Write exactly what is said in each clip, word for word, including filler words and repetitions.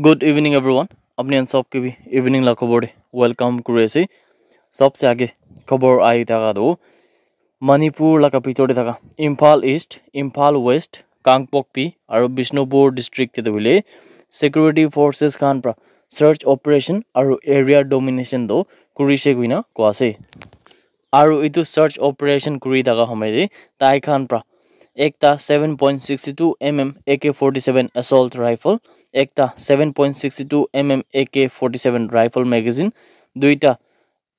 Good evening, everyone. Apni khan sob ke bhi evening la khobor de welcome kuri ase. Sobse aage khobor ahi thaka tu Manipur laga bhitor de thaka Imphal East, Imphal West, Kangpokpi aru Bishnupur district te tu hoile security forces khan pra search operation aru area domination tu kurise koina koa ase. Aru etu search operation kuri thaka homoi de tai khan pra ekta seven point six two mm A K forty-seven assault rifle, ekta seven point six two mm A K forty-seven rifle magazine, duita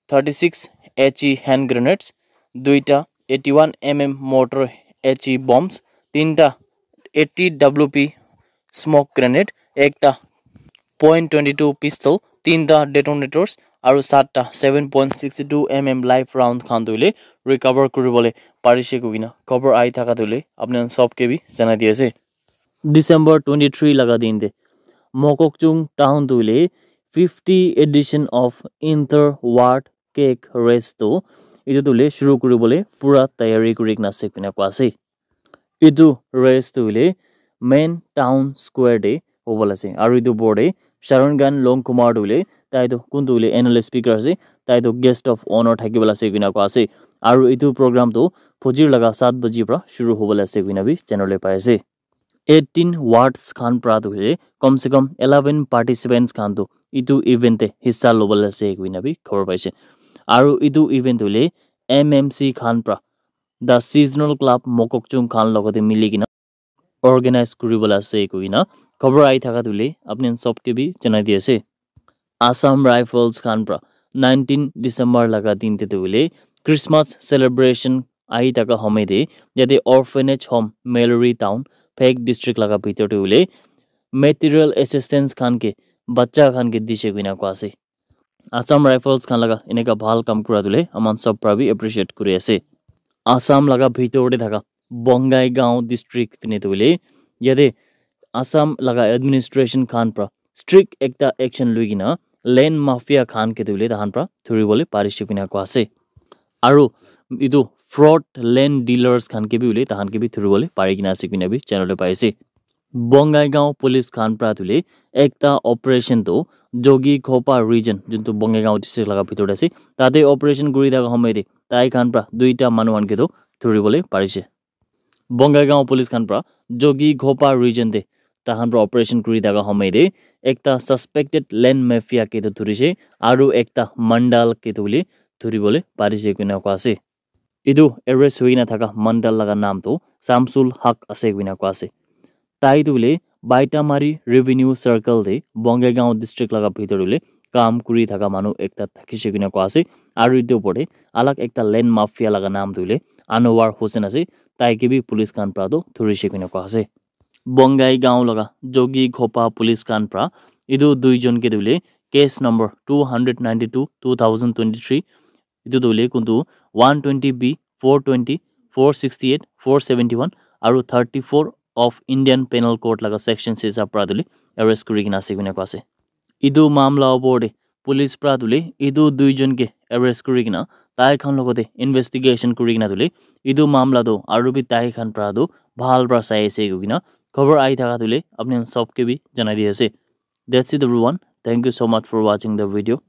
thirty-six H E hand grenades, duita eighty-one mm mortar H E bombs, tinta eighty W P smoke grenade, ekta point twenty two pistol, tinta detonators aru satta seven point six two mm live round khan tu hoile recover kuribole parise koina khobor ahi thaka tu hoile apni khan sob ke bhi janai di ase. December twenty three laga din te Mokokchung town tu hoile fifty edition of inter ward cake race tu etu tu hoile shuru kuribole pura tayari kuri kena ase koina koa ase. Etu race tu hoile main town square te hobole ase aru etu opor te Sharon Khan Longkumar tu hoile tai tu kun tu hoile M L A speaker ase, tai tu guest of honour thaki bole ase koina koa ase. Aru etu program tu fajir laga saat baji pra shuru hobole ase koina bhi janibole pai ase. Eighteen wards khan pra tu hoile kom se kom eleven participants khan tu etu event te hissa lobole ase koina bhi khobor paise. Aru etu event tu hoile M M C khan pra the seasonal club Mokokchung khan logote mili kena organize kuribole ase koina khobor ahi thaka tu hoile apni khan sob ke bhi janai di ase. Assam Rifles khan pra nineteen December laga din te tu hoile Christmas celebration ahi thaka homoi de yate orphanage home Mallory town Phek district laga bhitor te hoile material assistance khan ke bacha khan ke dise koina koa ase. Assam Rifles khan laga eneka bhal kam kura tu hoile aman sob pra bhi appreciate kuri ase. Assam laga bhitor te thaka Bongaigaon district tene tu hoile yate Assam laga administration khan pra strict ekta action lui kena land mafia khan ke tu hoile tahan pra thuribole parise koina koa ase. Aru etu fraud land dealers khan ke bhi hoile tahan ke bhi thuribole pari kena ase koina bhi janibole pai ase. Bongaigaon police khan pra tu hoile ekta operation tu Jogi Khopa region juntu Bongaigaon district laga bhitor te ase, tate operation kuri thaka homoi te tai khan pra duita manu khan ke tu thuribole parise. Bongaigaon police khan pra Jogi Khopa region te tahan pra operation kuri thaka homoi te ekta suspected land mafia ke tu thurise aru ekta Mandal ke tu hoile thuribole parise koina koa ase. Etu arrest hoi kena thaka Mandal laga naam tu Samsul Haq ase koina koa ase. Tai tu hoile Baitamari Revenue Circle te Bongaigaon district laga bhitor hoile kam kuri thaka manu ekta thakise koina koa ase. Aru etu opor te alag ekta land mafia laga naam tu hoile Anwar Hussain ase. Tai ke bhi police khan pra tu thurise koina koa ase. Bongaigaon laga Jogi Khopa police khan pra etu duijon ke tu hoile case number two hundred ninety two two thousand twenty three etu tu hoile kuntu one twenty B, four twenty, four sixty eight, four seventy one aru thirty four of Indian Penal Code laga section hisab pra tu hoile arrest kuri kena ase koina koa ase. Etu mamla opor te police pra tu hoile etu duijon ke arrest kuri kena tai khan logote investigation kuri kena tu hoile etu mamla tu aru bhi tai khan pra tu bhal pra sai ase koina khobor ahi thaka tu hoile apni khan sob ke bhi janai di ase. That's it, everyone. Thank you so much for watching the video.